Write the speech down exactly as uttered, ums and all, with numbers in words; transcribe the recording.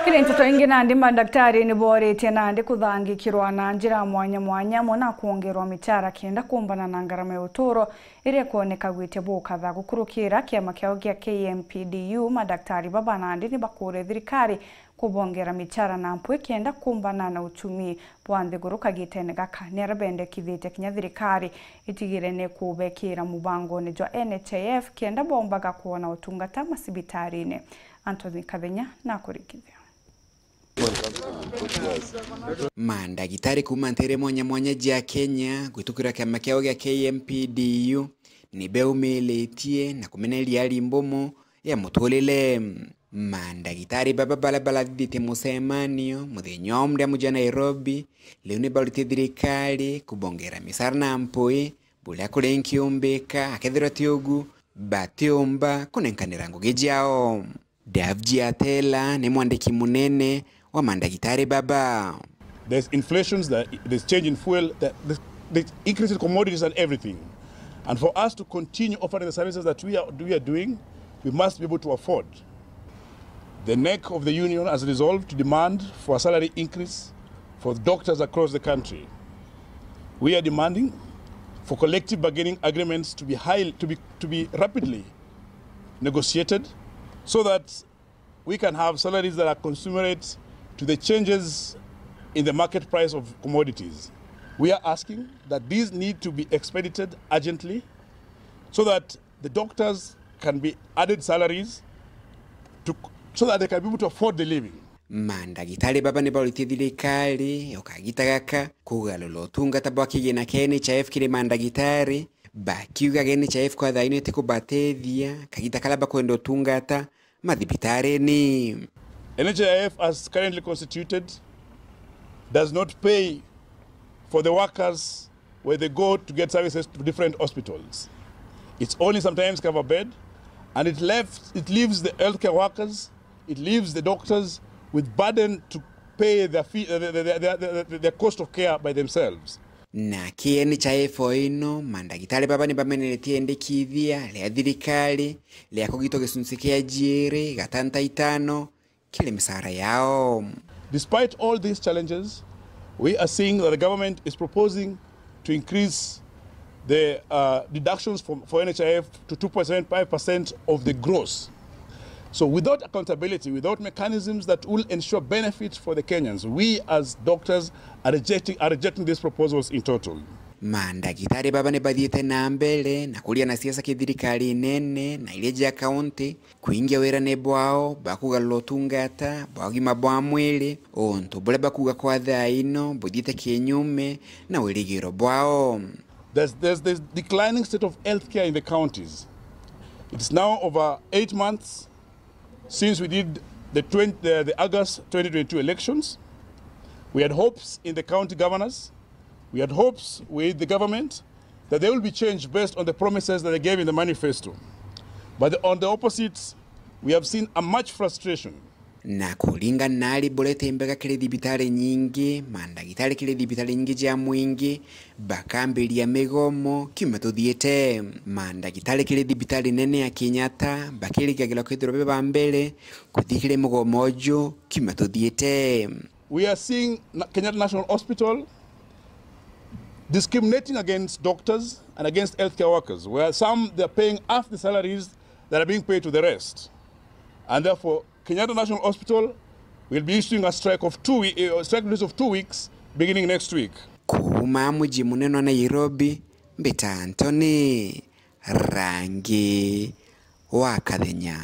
Kiri nteto ingi, nandi mandaktari ni booritie nandi kuthangikirwa na njira mwanya mwanya, amwe na kwongerwa michara kenda kumbana na ngarama ya uturo iria ikwoneka gwitia bukatha. Gukurukira kiama kiao gia K M P D U, mandaktari baba nandi ni bakuuria thirikari kubongera michara na mpwi kenda kumbana na uchumi bwa nthiguru kagitene gaka. Ni aria bendekithitie kinya thirikari itigire ni kubekira mubangone jwa N H I F kenda bombaga kwona utungata macibitarine. Anthony Kathenya nakurikithia. Mandagitari kuuma nteere mwanya mwanya ja Kenya gwitukira kiama kiao gia K M P D U ni beumiritie na kumeneria ari mbumu ya muturire. Mandagitari baba baria barathithitie mucemanio muthenya wa Monday muji wa Nairobi, riu ni barutite thirikari kubongera micara na mpwi buria kuri nkiumbika, akethirwa ti ugu, batiumba kunenkanira ngugi jao. Davji Atela ni mwandiki munene wa mandagitari baba. There's inflations, there- there's change in fuel, there- there's, there's increase in commodities and everything. And for us to continue offering the services that we are, we are doing, we must be able to afford. The neck of the union has resolved to demand for a salary increase for doctors across the country. We are demanding for collective bargaining agreements to be high, to be, to be rapidly negotiated so that we can have salaries that are commensurate to the changes in the market price of commodities. We are asking that these need to be expedited urgently so that the doctors can be added salaries to, so that they can be able to afford the living. Mandagitari baba ni bauritie thirikari o kagita gaka kugarura utungata bwa kigina kia N H I F kiri mandagitari, bakiuga N H I F kwa thaa ino itikubatethia kagita karia bakwenda utungata mathibitarine. N H I F as currently constituted does not pay for the workers where they go to get services to different hospitals. It's only sometimes cover bed, and it left, it leaves the healthcare workers, it leaves the doctors with burden to pay their fee, uh, the, the, the, the, the, the cost of care by themselves. Na ki N H I F o ino, mandagitari baba ni bameneretie endekithia ria thirikari ria kugitwa gicunci kia jiiri gatanta itano kiri micara yao. Despite all these challenges, we are seeing that the government is proposing to increase the, uh, deductions for, for N H I F to two point seven five percent of the gross. So without accountability, without mechanisms that will ensure benefit for the Kenyans, we as doctors are rejecting, are rejecting these proposals in total. Mandagitari baba ni bathiite na mbere na kuria na siasa ki thirikari nene na iria cia kaunti kuingia wirane bwao bwa kugarura utungata bwa ugima bwa mwiri, untu buria bakuuga kwa thaa ino buthiite kinyume na wirigiro bwao. There's, there's this declining state of healthcare in the counties. It's now over eight months since we did the twenty, the, the August twenty twenty-two elections. We had hopes in the county governors. We had hopes with the government that there will be change based on the promises that they gave in the manifesto. But the, on the opposite, we have seen a much frustration. Na kuringana na ari buria ti mbega kiri thibitari nyingi, mandagitari kiri thibitari nyingi cia mwingi bakambiria migomo kiumia tuthiite. Mandagitari kiri thibitari nene ya Kenyatta bakirigagirwa kwithirwa be ba mbere kuthi kiri mugomo uju kiumia tuthiite. We are seeing Na-, Kenyatta National Hospital discriminating against doctors and against healthcare workers, where some they are paying half the salaries that are being paid to the rest. And therefore, Kenyatta National Hospital will be issuing a strike of two we-, eh, strike notice of two weeks beginning next week. Kuuma muji munene wa Nairobi, mbita Anthony Rangi wa Kathenya.